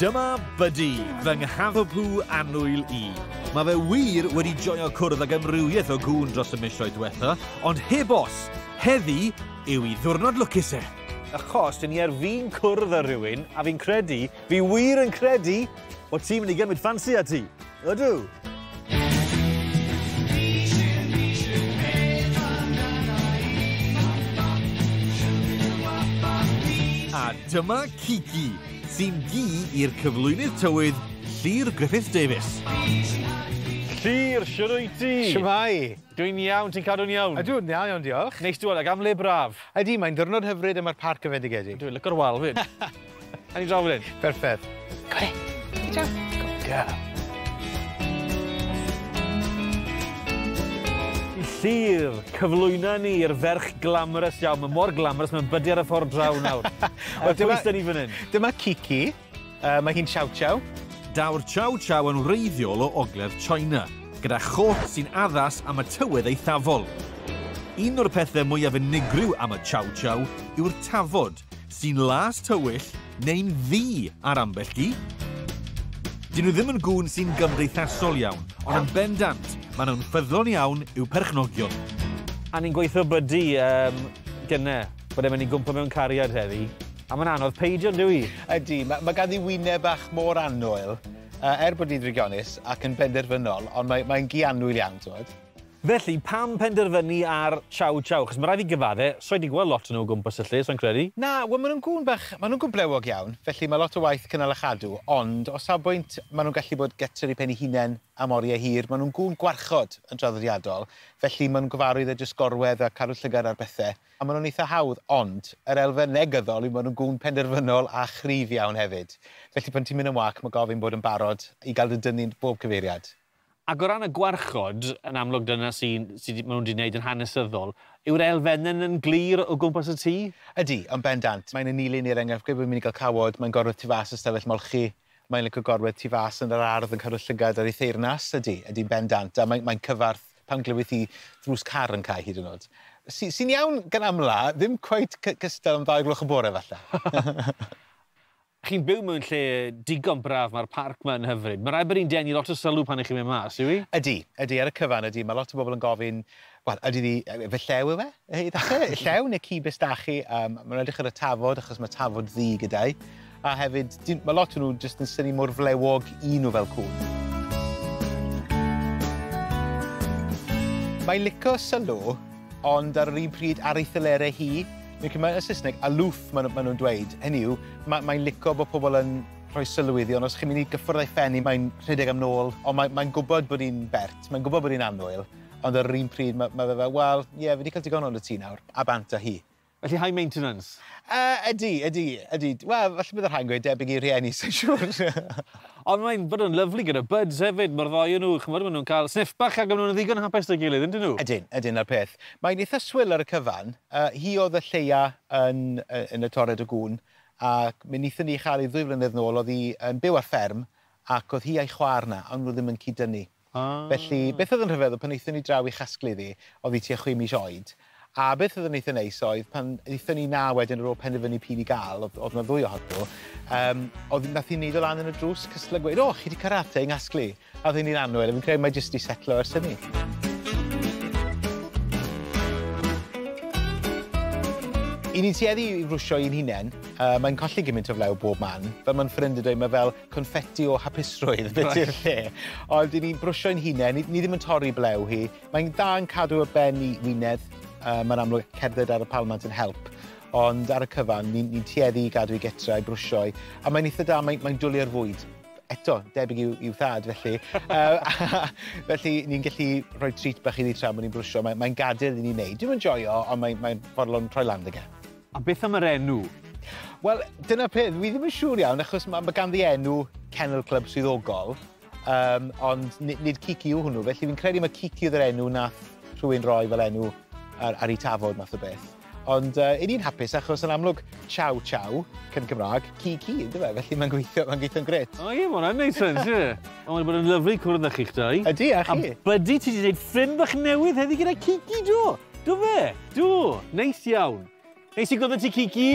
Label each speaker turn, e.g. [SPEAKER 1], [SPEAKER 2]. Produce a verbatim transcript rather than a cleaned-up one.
[SPEAKER 1] Dyma Buddy, fy nghaddwpw annwyl i. Mae fe wir wedi joio cwrdd ag amrywiaeth o gŵn dros y misoedd diwetha, ond heb os, heddi yw ei ddiwrnod lwcus e. Achos, dyn ni ar fin cwrdd â rhywun, a fi'n credu, fi wir yn credu, bod ti'n mynd i gymryd ffansi â ti. Ydw. A dyma Kiki, sy'n gi i'r cyflwynydd tywydd Llyr Gruffydd Davies. Llyr, siwr wyt ti?
[SPEAKER 2] Shwmae?
[SPEAKER 1] Dwi'n iawn, ti'n cadw'n iawn?
[SPEAKER 2] Ydw, iawn, iawn, diolch.
[SPEAKER 1] Neis dy weld, ac am le braf.
[SPEAKER 2] Ydy, mae'n ddiwrnod hyfryd yma'r parc yn fendigedig.
[SPEAKER 1] Dwi'n lyco'r wal fyd. A ni draw fan hyn.
[SPEAKER 2] Perffaith. Go on, good job. Good girl.
[SPEAKER 1] Llyr, cyflwyno ni i'r ferch glamorous iawn. Mae mor glamorous, mae'n bydu ar y ffordd draw nawr. Wel, dyma, pwy ni fan hyn?
[SPEAKER 2] Dyma Kiki. Uh, mae hi'n chow chow.
[SPEAKER 1] Daw'r chow chow yn wreiddiol o ogledd China, gyda chot sy'n addas am y tywydd eithafol. Un o'r pethau mwyaf unigryw am y chow chow yw'r tafod, sy'n las tywyll neu'n ddu ar ambell gi. Dyn nhw ddim yn gŵn sy'n gymdeithasol iawn, ond yn bendant, maen nhw'n ffyddlon iawn i'w perchnogion. A ni'n gweithio Buddy um, gynne, bod e'n mynd i gwmpo mewn cariad heddi. A mae'n anodd peidio, yn dyw i?
[SPEAKER 2] Ydy, mae, mae ganddi wyneb bach mor annwyl, uh, er bod hi'n drygionus ac yn benderfynol, ond mae'n mae gi annwyl iawn, ti'n.
[SPEAKER 1] Felly, pam penderfynu ar chow chow? Chos mae rhaid i gyfadde, so i 'di gweld lot o'n nhw o gwmpas y lle, so'n credu.
[SPEAKER 2] Na, wel, maen nhw'n gŵn bach, maen nhw'n gŵn blewog iawn, felly mae lot o waith cynnal a chadw, ond o safbwynt maen nhw'n gallu bod gytre i pen eu hunain am oriau hir, maen nhw'n gŵn gwarchod yn traddodiadol, felly maen nhw'n gyfarwydd â jyst gorwedd a cadw llygad ar bethau, a maen nhw'n eitha hawdd, ond yr elfen negyddol yw maen nhw'n gŵn penderfynol a chryf iawn hefyd. Felly pan ti'n mynd yn wac, mae gofyn bod yn barod i gael dy dynnu bob cyfeiriad.
[SPEAKER 1] Ac o ran y gwarchod, yn amlwg dyna sy'n sy, maen nhw wedi gwneud yn hanesyddol, yw'r elfennau yn glir o gwmpas y tŷ?
[SPEAKER 2] Ydy, ond bendant. Mae'n anilyn i'r enghraifft, gwed bod mynd i gael cawod, mae'n gorwedd tu fas ystafell molchi, mae'n licio gorwedd tu fas yn yr ardd yn cadw llygad ar ei theyrnas, ydy, ydy'n bendant. A mae'n mae cyfarth pan glywith hi ddrws car yn cau hyd yn oed. Sy'n sy iawn gan amla, ddim cweit cystal am ddau gloch y bore falle.
[SPEAKER 1] Chi'n byw mewn lle digon braf, mae'r parc yma yn hyfryd. Mae rhaid bod hi'n denu lot o sylw pan ych chi'n mynd mas, yw i?
[SPEAKER 2] Ydy, ydy, ar y cyfan ydy. Mae lot o bobl yn gofyn, wel, ydy di, fe llew yw e? I llew neu ci bistachu? Um, mae'n edrych ar y tafod, achos mae tafod ddu gyda'i. A hefyd, mae lot o nhw jyst yn synnu mor flewog i nhw fel cŵn. Mae'n licio sylw, ond ar yr un pryd ar ei thylerau hi. Mae'n y Saesneg, aloof maen nhw'n nhw dweud. Hynny yw, mae'n mae licio bod pobl yn rhoi sylw iddi, ond os chi'n mynd i gyffwrdd ei phen hi, mae'n rhedeg am nôl, ond mae'n mae gwybod bod hi'n bert, mae'n gwybod bod hi'n annwyl, ond ar yr un pryd mae, mae fe fel, wel, ie, yeah, fi wedi cael digon o'n y tŷ nawr, a bant â hi.
[SPEAKER 1] Felly high maintenance?
[SPEAKER 2] Uh, ydy, ydy, ydy. Wel, falle bydd y rhai'n gweud debyg i rhieni, sy'n siŵr.
[SPEAKER 1] Ond mae'n bod yn lyfli gyda buds hefyd, mae'r ddoi nhw, ch'mod, maen nhw'n cael sniff bach ac maen nhw'n ddigon hapus 'da'i gilydd, yndyn nhw?
[SPEAKER 2] Ydyn, ydyn, a'r peth. Mae'n eitha swil ar y cyfan. Uh, hi oedd y lleia yn, yn y tored o gŵn, ac mi wnaethon ni chael ei ddwy flynedd nôl, oedd hi yn byw ar fferm, ac oedd hi a'i chwaer na, ond nhw ddim yn cyd-dynnu.
[SPEAKER 1] Ah.
[SPEAKER 2] Felly, beth oedd yn rhyfedd, pan wnaethon ni draw i chasglu ddi, oedd hi tua chwe mis oed, a beth oedd yn eitha neis oedd, pan wnaethon ni na wedyn ar ôl penderfynu p'un i gael, oedd, oedd 'na ddwy ohonyn nhw, um, oedd nath hi neud o lan yn y drws, cystal a gweud, o, chi 'di karate yng nghasglu. A oedd hi'n annwyl, a fi'n credu mae jyst 'di setlo ers hynny. I ni'n tueddu i frwsio i'n hunain, uh, mae'n colli gymaint o flew bob man. Fel mae'n ffrind yn dweud, mae fel confetti o hapusrwydd beth yw'r lle. Ond i ni'n brwsio i'n hunain, ni, ni ddim yn torri blew hi. Mae'n dda yn cadw y ben i wynedd. Uh, mae'n amlwg cerdded ar y palmant yn help. Ond ar y cyfan, ni'n ni tueddu i gadw i getra, i brwsio i. A mae'n eitha da, mae'n mae dwlu ar fwyd. Eto, debyg i'w, i'w thad, felly. uh, felly, ni'n gallu rhoi treat bach iddi tra bod ni'n brwsio. Mae'n mae gadael i ni wneud. Dwi'm yn joio, ond mae'n mae fodlon troi lan ag e.
[SPEAKER 1] A beth am yr enw?
[SPEAKER 2] Wel, dyna peth, fi ddim yn siŵr iawn, achos mae, mae ganddi enw Kennel Club swyddogol, um, ond nid, nid Kiki yw hwnnw, felly fi'n credu mae Kiki oedd yr enw nath rhywun roi fel enw ar, ar ei tafod math o beth. Ond uh, i ni'n hapus, achos yn amlwg chow chow, cyn Cymraeg, Kiki, ynddo fe, felly mae'n gweithio, mae'n gweithio'n grêt.
[SPEAKER 1] O ie, mae hwnna'n neud sens, ie. Ond mae'n bod yn lyfli cwrdd â chi'ch dau.
[SPEAKER 2] Ydy, a chi.
[SPEAKER 1] A Buddy, ti wedi gwneud ffrind bach newydd heddi gyda Kiki, do? Do fe? Do. Neis iawn. Neis i gwrdd â ti, Kiki.